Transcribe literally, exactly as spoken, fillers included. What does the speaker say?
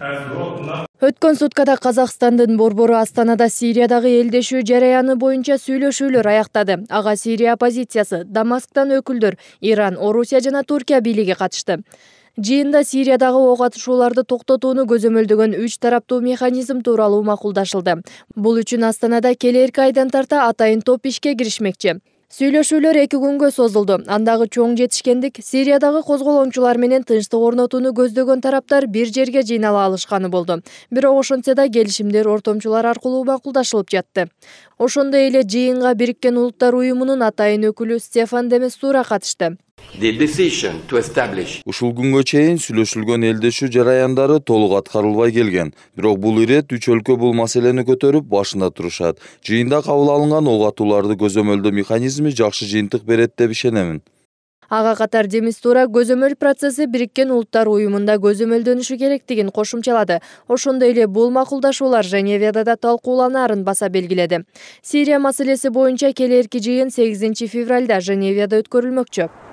Өткөн суткада Казакстандын борбору Астанада Сириядагы элдешүү жараяны боюнча сүйлөшүүлөр аяктады. Ага Сирия оппозициясы, Дамасктан өкүлдөр, Иран, Орусия жана Туркия бийлиги катышты. Жыйында Сириядагы ок атышууларды токтотууну көзөмөлдөгөн үч тараптуу механизм тууралуу макулдашылды. Бул үчүн Астанада келерки айдан тарта атайын топ ишке киришмекчи. Сүйлөшүүлөр эки күнгө созулду. Андагы чоң жетишкендик Сириядагы козголоңчулар менен тынчтык орнотууну көздөгөн тараптар бир жерге жыйнала алышканы болду. Бирок ошентсе да келишимдер ортомчулар аркылуу макулдашылып жатты. Ошондой эле жыйынга Бириккен Улуттар уюмунун атайын өкүлү Стефан де Мистура катышты. Ушул күнгө чейин сүйлөшүлгөн элдешүү жараяндары толук аткарылбай келген. Бирок бул ирет үч өлкө бул маселени көтөрүп башында турушат. Жыйында кабыл алынган ок атууларды көзөмөлдөө механизми жакшы жыйынтык берет деп ишенемин. Ага катар де Мистура көзөмөл процесси Бириккен Улуттар уюмунда көзөмөлдөнүшү керектигин кошумчалады. Ошондой эле бул макулдашуулар Женевада да талкууланаарын баса белгиледи. Сирия маселеси боюнча келерки жыйын сегизинчи февралда Женевада өткөрүлмөкчү.